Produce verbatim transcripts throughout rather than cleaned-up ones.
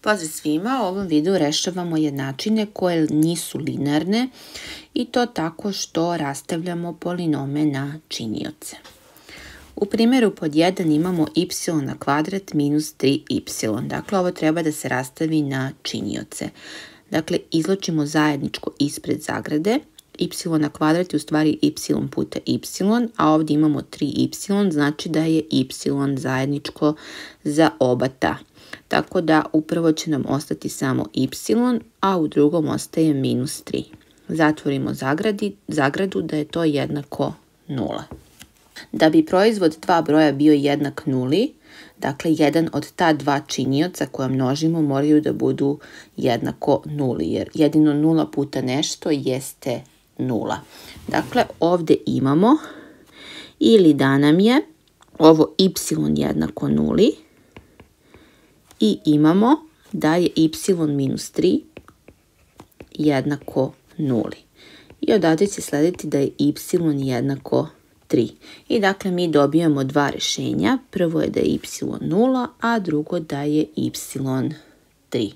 Pozdrav svima, u ovom videu rešavamo jednačine koje nisu linearne i to tako što rastavljamo polinome na činioce. U primjeru pod jedan imamo y na kvadrat minus tri y. Dakle, ovo treba da se rastavi na činioce. Dakle, izločimo zajedničko ispred zagrade. Y na kvadrat je u stvari y puta y, a ovdje imamo tri y, znači da je y zajedničko za oba ta. Tako da upravo će nam ostati samo y, a u drugom ostaje minus tri. Zatvorimo zagradi, zagradu da je to jednako nula. Da bi proizvod dva broja bio jednak nuli, dakle jedan od ta dva činioca koja množimo moraju da budu jednako nuli, jer jedino nula puta nešto jeste nula. Dakle, ovdje imamo ili da nam je ovo y jednako nuli i imamo da je y minus tri jednako nuli. I odavde će slediti da je y jednako tri. I dakle mi dobijamo dva rešenja. Prvo je da je y nula, a drugo da je y tri.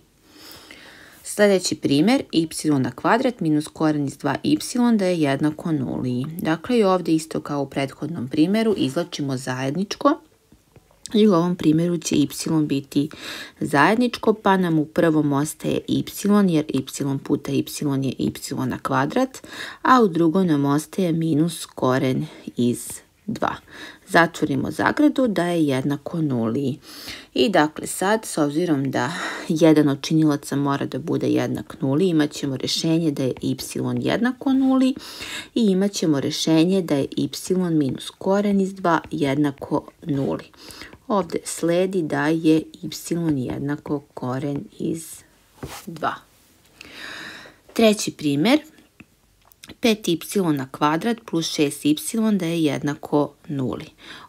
Sljedeći primjer, y na kvadrat minus koren iz dva y da je jednako nuli. Dakle, i ovdje isto kao u prethodnom primjeru izvlačimo zajedničko. I u ovom primjeru će y biti zajedničko, pa nam u prvom ostaje y, jer y puta y je y na kvadrat, a u drugom nam ostaje minus koren iz dva. Zatvorimo zagradu da je jednako nuli. I dakle sad, s obzirom da jedan od činilaca mora da bude jednak nuli, imat ćemo rešenje da je y jednako nuli i imat ćemo rešenje da je y minus koren iz dva jednako nuli. Ovdje sledi da je y jednako koren iz dva. Treći primjer, pet y na kvadrat plus šest y da je jednako nuli.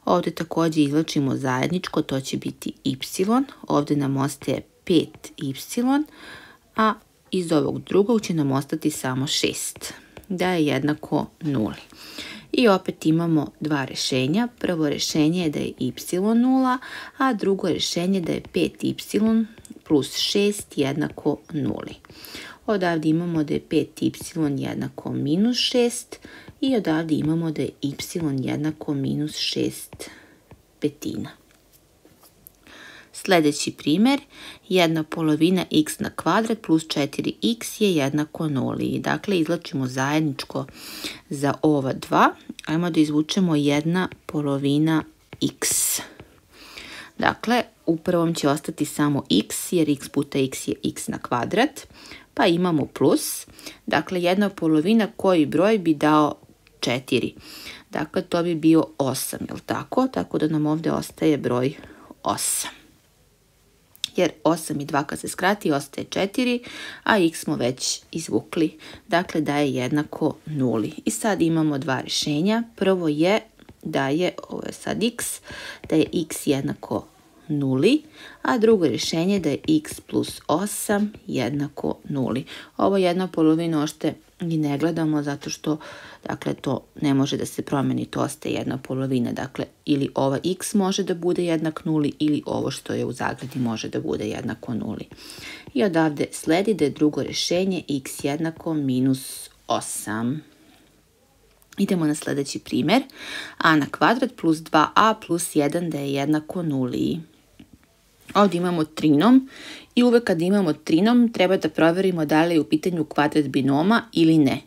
Ovdje također izvlačimo zajedničko, to će biti y, ovdje nam ostaje pet y, a iz ovog drugog će nam ostati samo šest, da je jednako nuli. I opet imamo dva rešenja. Prvo rešenje je da je y nula, a drugo rešenje da je pet y plus šest jednako nuli. Odavdje imamo da je pet y jednako minus šest i odavdje imamo da je y jednako minus šest petina. Sljedeći primjer, jedna polovina x na kvadrat plus četiri x je jednako nuli. Dakle, izvlačimo zajedničko za ova dva. Ajmo da izvučemo jedna polovina x. Dakle, u prvom će ostati samo x, jer x puta x je x na kvadrat. Pa imamo plus. Dakle, jedna polovina koji broj bi dao četiri. Dakle, to bi bio osam, je li tako? Tako da nam ovdje ostaje broj osam. Jer osam i dva kad se skrati ostaje četiri, a x smo već izvukli. Dakle, da je jednako nuli. I sad imamo dva rešenja. Prvo je da je, ovo je sad x, da je x jednako nuli, a drugo rješenje da je x plus osam jednako nuli. Ovo jedna polovina ošte i ne gledamo zato što dakle, to ne može da se promeni, to ostaje jedna polovina. Dakle, ili ova x može da bude jednak nuli ili ovo što je u zagradi može da bude jednako nuli. I odavde sledi da je drugo rješenje x jednako minus osam. Idemo na sljedeći primjer. A na kvadrat plus dva a plus jedan da je jednako nuli. Ovdje imamo trinom i uvek kad imamo trinom treba da provjerimo da li je u pitanju kvadrat binoma ili ne.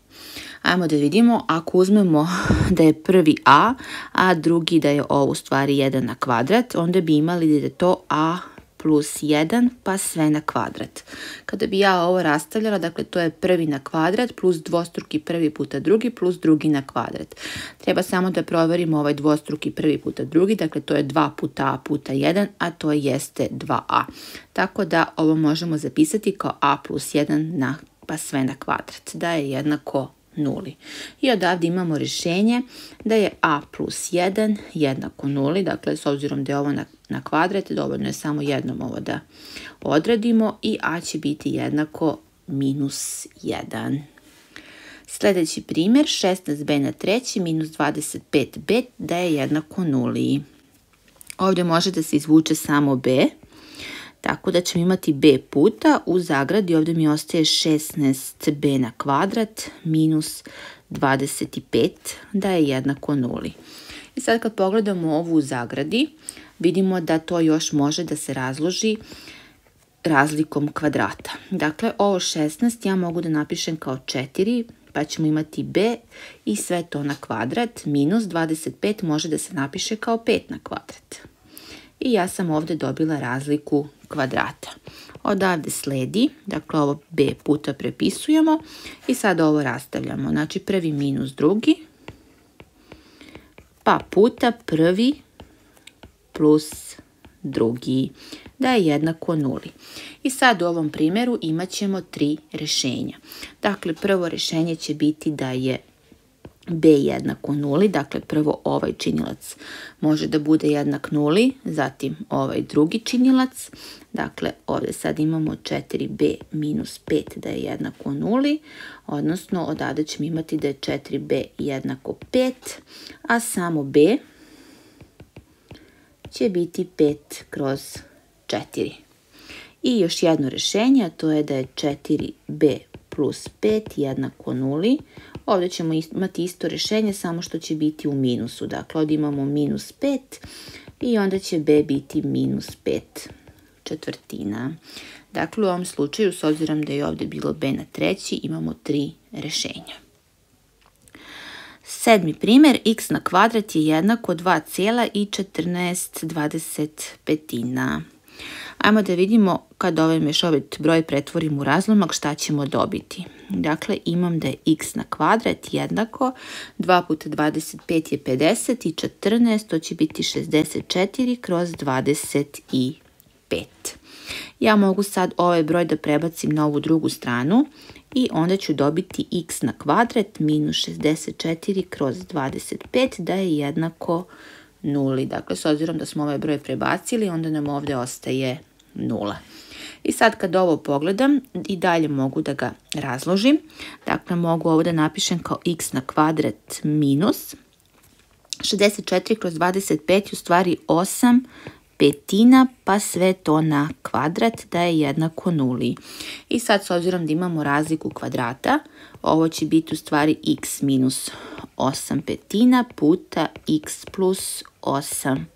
Ajmo da vidimo, ako uzmemo da je prvi a, a drugi da je ovo u stvari jedan na kvadrat, onda bi imali da je to a plus jedan pa sve na kvadrat. Kada bi ja ovo rastavljala, dakle to je prvi na kvadrat plus dvostruki prvi puta drugi plus drugi na kvadrat. Treba samo da provjerimo ovaj dvostruki prvi puta drugi, dakle to je dva puta a puta jedan, a to jeste dva a. Tako da ovo možemo zapisati kao a plus jedan na, pa sve na kvadrat, da je jednako nuli. I odavdje imamo rješenje da je a plus jedan jednako nuli, dakle s obzirom da je ovo na, na kvadrat, dovoljno je samo jednom ovo da odradimo i a će biti jednako minus jedan. Sljedeći primjer, šesnaest b na treći minus dvadeset pet b da je jednako nuli. Ovdje može da se izvuče samo b, Tako da ćemo imati b puta, u zagradi ovdje mi ostaje šesnaest b na kvadrat minus dvadeset pet da je jednako nuli. I sad kad pogledamo ovu u zagradi, vidimo da to još može da se razloži razlikom kvadrata. Dakle, ovo šesnaest ja mogu da napišem kao četiri, pa ćemo imati b i sve to na kvadrat, minus dvadeset pet može da se napiše kao pet na kvadrat. I ja sam ovdje dobila razliku kvadrata. Odavde sledi, dakle ovo b puta prepisujemo i sad ovo rastavljamo. Znači prvi minus drugi, pa puta prvi plus drugi, da je jednako nuli. I sad u ovom primjeru imat ćemo tri rješenja. Dakle, prvo rješenje će biti da je b jednako nuli, dakle prvo ovaj činilac može da bude jednak nuli, zatim ovaj drugi činilac, dakle ovdje sad imamo četiri b minus pet da je jednako nuli, odnosno odavde ćemo imati da je četiri b jednako pet, a samo b će biti pet kroz četiri. I još jedno rješenje, a to je da je četiri b plus pet jednako nuli. Ovdje ćemo imati isto rješenje, samo što će biti u minusu. Dakle, ovdje imamo minus pet i onda će b biti minus pet četvrtina. Dakle, u ovom slučaju, s obzirom da je ovdje bilo b na treći, imamo tri rješenja. Sedmi primjer, x na kvadrat je jednako dva zarez četrnaest dvadeset petina. Ajmo da vidimo kad ovaj mješovit broj pretvorim u razlomak šta ćemo dobiti. Dakle, imam da je x na kvadrat jednako dva puta dvadeset pet je pedeset i četrnaest, to će biti šezdeset četiri kroz dvadeset pet. Ja mogu sad ovaj broj da prebacim na ovu drugu stranu i onda ću dobiti x na kvadrat minus šezdeset četiri kroz dvadeset pet da je jednako nuli. Dakle, s obzirom da smo ovaj broj prebacili, onda nam ovdje ostaje nula. I sad kad ovo pogledam, i dalje mogu da ga razložim. Dakle, mogu ovo da napišem kao x na kvadrat minus šezdeset četiri kroz dvadeset pet, u stvari osam petina, pa sve to na kvadrat da je jednako nuli. I sad, s obzirom da imamo razliku kvadrata, ovo će biti u stvari x minus osam petina puta x plus osam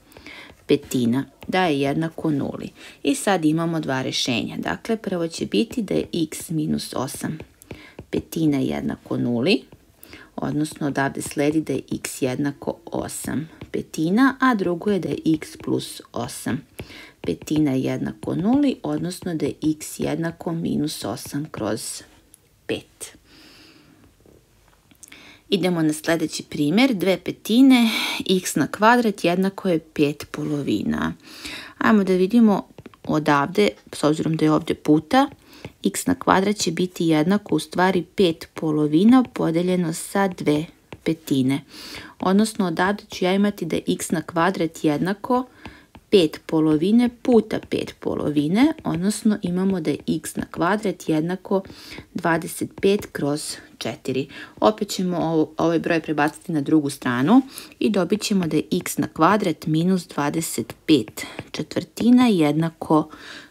petina, da je jednako nuli. I sad imamo dva rješenja. Dakle, prvo će biti da je x minus osam petina jednako nuli, odnosno odavde sledi da je x jednako osam petina, a drugo je da je x plus osam petina jednako nuli, odnosno da je x jednako minus osam kroz pet. Idemo na sljedeći primjer, dve petine, x na kvadrat jednako je pet polovina. Ajmo da vidimo odavde, s obzirom da je ovdje puta, x na kvadrat će biti jednako u stvari pet polovina podeljeno sa dve petine. Odnosno odavde ću ja imati da je x na kvadrat jednako pet polovine puta pet polovine, odnosno imamo da je x na kvadrat jednako dvadeset pet kroz četiri. Opet ćemo ovo, ovaj broj prebaciti na drugu stranu i dobit ćemo da je x na kvadrat minus dvadeset pet četvrtina jednako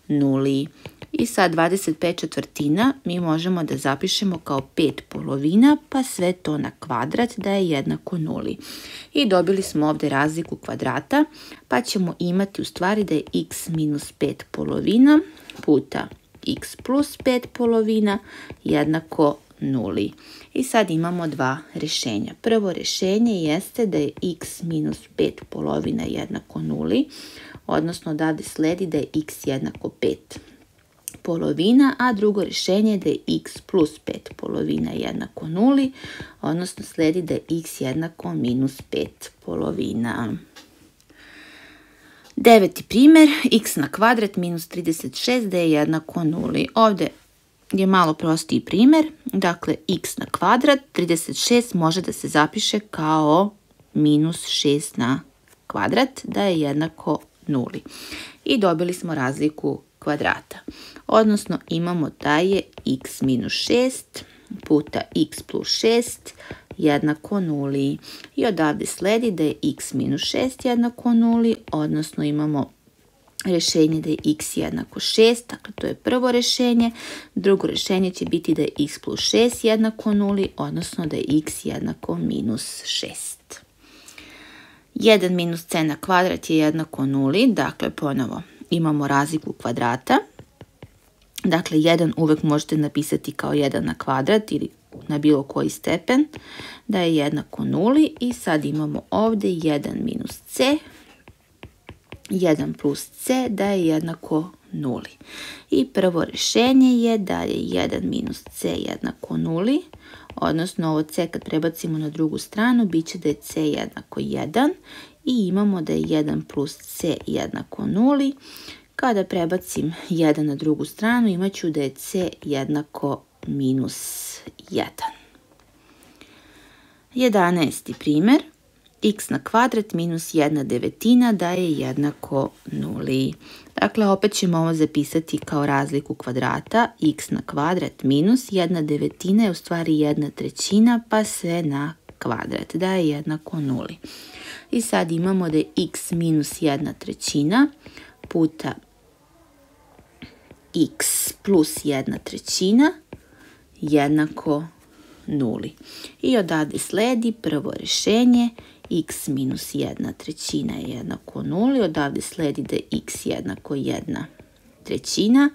nuli. I sad dvadeset pet četvrtina mi možemo da zapišemo kao pet polovina, pa sve to na kvadrat da je jednako nuli. I dobili smo ovdje razliku kvadrata, pa ćemo imati u stvari da je x minus pet polovina puta x plus pet polovina jednako nuli. I sad imamo dva rješenja. Prvo rješenje jeste da je x minus pet polovina jednako nuli, odnosno odavde sledi da je x jednako pet polovina, a drugo rješenje je da je x plus pet polovina jednako nuli, odnosno sledi da je x jednako minus pet polovina. Deveti primjer, x na kvadrat minus trideset šest da je jednako nuli. Ovdje je malo prostiji primjer, dakle x na kvadrat, trideset šest može da se zapiše kao minus šest na kvadrat da je jednako nuli. I dobili smo razliku kvadrata. Odnosno imamo da je x minus šest puta x plus šest jednako nuli. I odavde sledi da je x minus šest jednako nuli, odnosno imamo rješenje da je x jednako šest, dakle to je prvo rješenje. Drugo rješenje će biti da je x plus šest jednako nuli, odnosno da je x jednako minus šest. jedan minus c na kvadrat je jednako nuli, dakle ponovo imamo razliku kvadrata. Dakle, jedan uvek možete napisati kao jedan na kvadrat ili na bilo koji stepen, da je jednako nuli i sad imamo ovdje jedan minus c, jedan plus c, da je jednako nuli. I prvo rješenje je da je jedan minus c jednako nuli, odnosno ovo c kad prebacimo na drugu stranu, bit će da je c jednako jedan i imamo da je jedan plus c jednako nuli. Kada prebacim jedan na drugu stranu, imat ću da je c jednako minus jedan. jedanaesti primjer. X na kvadrat minus jedna devetina da je jednako nuli. Dakle, opet ćemo ovo zapisati kao razliku kvadrata. X na kvadrat minus jedna devetina je u stvari jedna trećina, pa sve na kvadrat da je jednako nuli. I sad imamo da je x minus jedna trećina puta x plus jedna trećina jednako nuli. I odavde sledi prvo rješenje, x minus jedna trećina je jednako nuli, odavde sledi da je x jednako jedna trećina,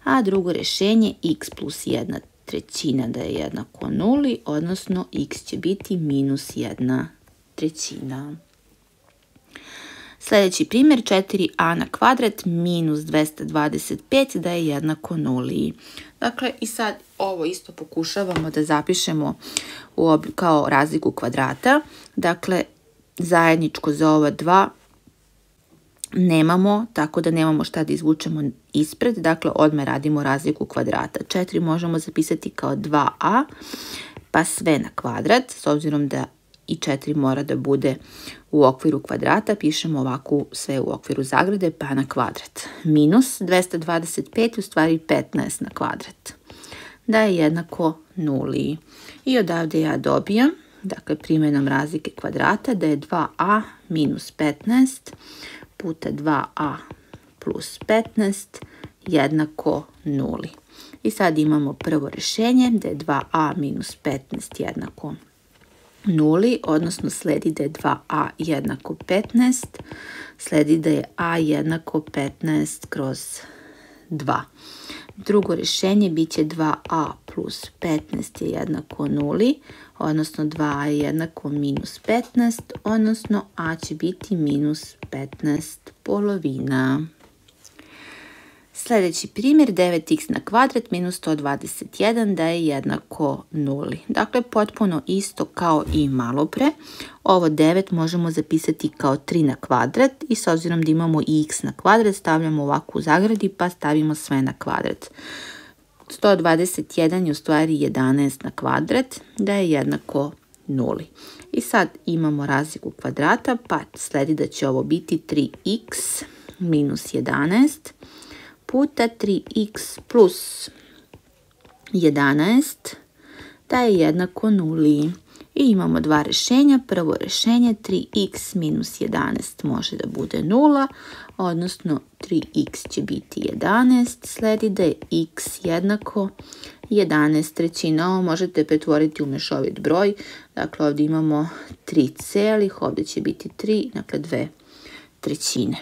a drugo rješenje x plus jedna trećina da je jednako nuli, odnosno x će biti minus jedna trećina. Sljedeći primjer, četiri a na kvadrat minus dvesta dvadeset pet da je jednako nuli. Dakle, i sad ovo isto pokušavamo da zapišemo u ob... kao razliku kvadrata. Dakle, zajedničko za ova dva nemamo, tako da nemamo šta da izvučemo ispred. Dakle, odmah radimo razliku kvadrata. četiri možemo zapisati kao dva a, pa sve na kvadrat, s obzirom da i četiri mora da bude u okviru kvadrata, pišemo ovako sve u okviru zagrade, pa na kvadrat. Minus dvesta dvadeset pet, u stvari petnaest na kvadrat, da je jednako nuli. I odavde ja dobijam, dakle primjenom razlike kvadrata, da je dva a minus petnaest puta dva a plus petnaest jednako nuli. I sad imamo prvo rješenje, da je dva a minus petnaest jednako nuli, odnosno sledi da je dva a jednako petnaest, sledi da je a jednako petnaest kroz dva. Drugo rješenje bit će dva a plus petnaest je jednako nuli, odnosno dva a je jednako minus petnaest, odnosno a će biti minus petnaest polovina. Sljedeći primjer, devet x na kvadrat minus sto dvadeset jedan da je jednako nuli. Dakle, potpuno isto kao i malo pre. Ovo devet možemo zapisati kao tri na kvadrat i s obzirom da imamo i x na kvadrat, stavljamo ovako u zagradi pa stavimo sve na kvadrat. sto dvadeset jedan je u stvari jedanaest na kvadrat da je jednako nuli. I sad imamo razliku kvadrata, pa sledi da će ovo biti tri x minus jedanaest puta tri x plus jedanaest da je jednako nuli. I imamo dva rješenja. Prvo rješenje tri x minus jedanaest može da bude nula, odnosno tri x će biti jedanaest, sledi da je x jednako jedanaest trećina. Ovo možete pretvoriti u mešovit broj, dakle ovdje imamo tri celih, ovdje će biti tri, dakle dve trećine.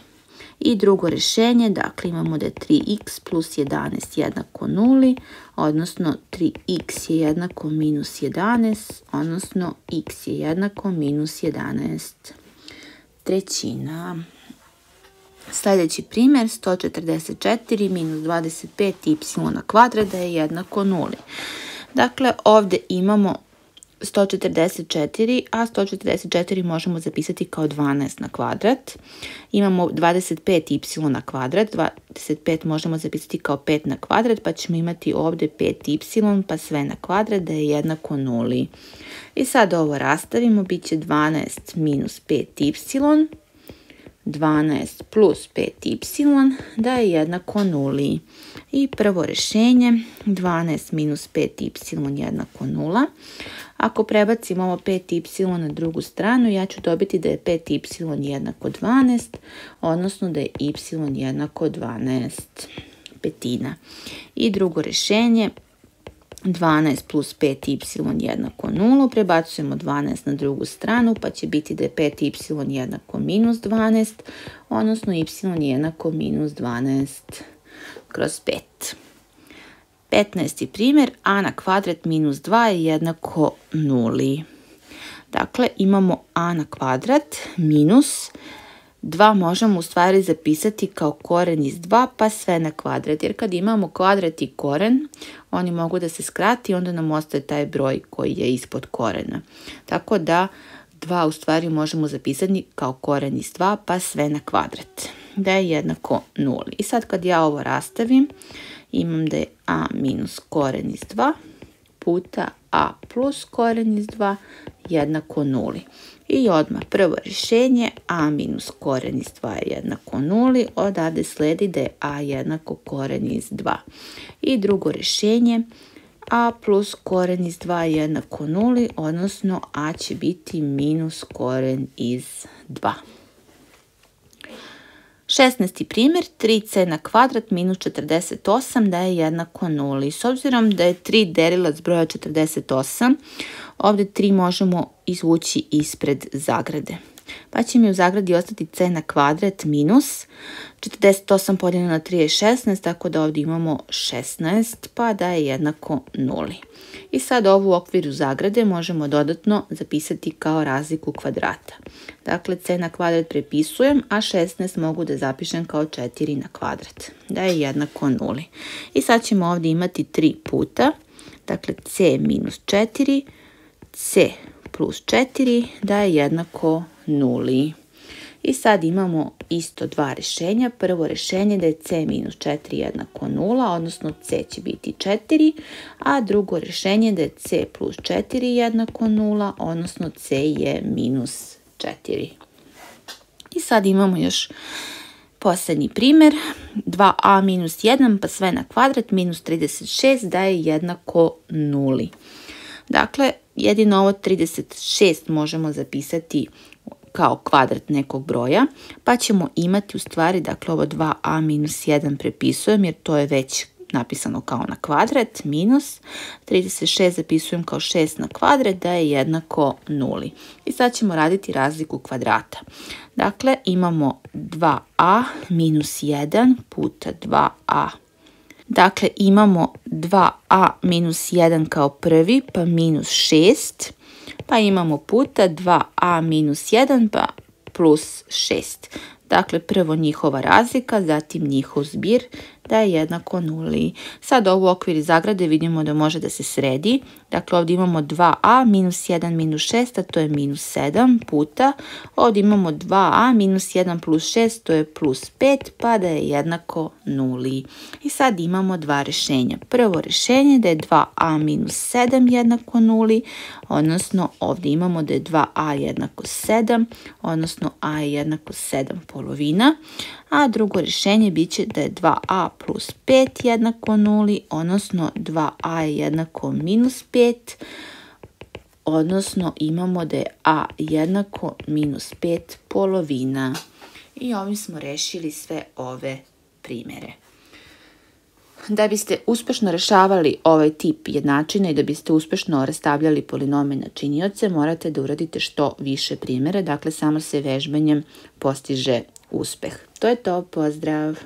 I drugo rješenje, dakle imamo da je tri x plus jedanaest jednako nuli, odnosno tri x je jednako minus jedanaest, odnosno x je jednako minus jedanaest trećina. Sljedeći primjer, sto četrdeset četiri minus dvadeset pet y na kvadrat da je jednako nuli. Dakle, ovdje imamo sto četrdeset četiri, a sto četrdeset četiri možemo zapisati kao dvanaest na kvadrat. Imamo dvadeset pet y na kvadrat, dvadeset pet možemo zapisati kao pet na kvadrat, pa ćemo imati ovdje pet y, pa sve na kvadrat da je jednako nuli. I sad ovo rastavimo, bit će dvanaest minus pet y, dvanaest plus pet y da je jednako nuli. I prvo rješenje, dvanaest minus pet y jednako nula. Ako prebacimo ovo pet y na drugu stranu, ja ću dobiti da je pet y jednako dvanaest, odnosno da je y jednako dvanaest petina. I drugo rješenje, dvanaest plus pet y jednako nula, prebacujemo dvanaest na drugu stranu, pa će biti da je pet y jednako minus dvanaest, odnosno y jednako minus dvanaest kroz pet. petnaesti primjer, a na kvadrat minus dva je jednako nuli. Dakle, imamo a na kvadrat minus dva možemo u stvari zapisati kao koren iz dva pa sve na kvadrat. Jer kad imamo kvadrat i koren, oni mogu da se skrati i onda nam ostaje taj broj koji je ispod korena. Tako da dva u stvari možemo zapisati kao koren iz dva pa sve na kvadrat. Da je jednako nuli. I sad kad ja ovo rastavim, imam da je a minus koren iz dva puta a plus koren iz dva jednako nuli. I odmah prvo rješenje, a minus koren iz dva je jednako nuli, odavde sledi da je a jednako koren iz dva. I drugo rješenje, a plus koren iz dva je jednako nuli, odnosno a će biti minus koren iz dva. šesnaesti primjer, tri c na kvadrat minus četrdeset osam da je jednako nuli. S obzirom da je tri delilac broja četrdeset osam, ovdje tri možemo izvući ispred zagrade. Pa će mi u zagradi ostati c na kvadrat minus četrdeset osam podijeljeno na tri je šesnaest, tako da ovdje imamo šesnaest, pa da je jednako nuli. I sad ovu u okviru zagrade možemo dodatno zapisati kao razliku kvadrata. Dakle, c na kvadrat prepisujem, a šesnaest mogu da zapišem kao četiri na kvadrat. Da je jednako nuli. I sad ćemo ovdje imati tri puta. Dakle, c minus četiri, c plus četiri da je jednako nuli. I sad imamo isto dva rješenja. Prvo rješenje da je c minus četiri jednako nula, odnosno c će biti četiri, a drugo rješenje da je c plus četiri jednako nula, odnosno c je minus četiri. I sad imamo još posljednji primjer, dva a minus jedan pa sve na kvadrat minus trideset šest da je jednako nuli. Dakle, jedino ovo trideset šest možemo zapisati kao kvadrat nekog broja, pa ćemo imati u stvari, dakle ovo dva a minus jedan prepisujem jer to je već napisano kao na kvadrat, minus trideset šest zapisujem kao šest na kvadrat da je jednako nuli. I sad ćemo raditi razliku kvadrata. Dakle, imamo dva a minus jedan puta dva a. Dakle, imamo dva a minus jedan kao prvi, pa minus šest, pa imamo puta dva a minus jedan, pa plus šest. Dakle, prvo njihova razlika, zatim njihov zbir da je jednako nuli. Sad ovo u okviru zagrade vidimo da može da se sredi. Dakle, ovdje imamo dva a minus jedan minus šest, a to je minus sedam puta. Ovdje imamo dva a minus jedan plus šest, to je plus pet, pa da je jednako nuli. I sad imamo dva rješenja. Prvo rješenje da je dva a minus sedam jednako nuli, odnosno ovdje imamo da je dva a jednako sedam, odnosno a je jednako sedam polovina. A drugo rješenje bit će da je dva a plus pet jednako nuli, odnosno dva a je jednako minus pet, odnosno imamo da je a jednako minus pet polovina. I ovim smo rešili sve ove primjere. Da biste uspješno rešavali ovaj tip jednačina i da biste uspješno rastavljali polinome na činioce, morate da uradite što više primjera, dakle samo se vežbanjem postiže uspjeh. To je to, pozdrav!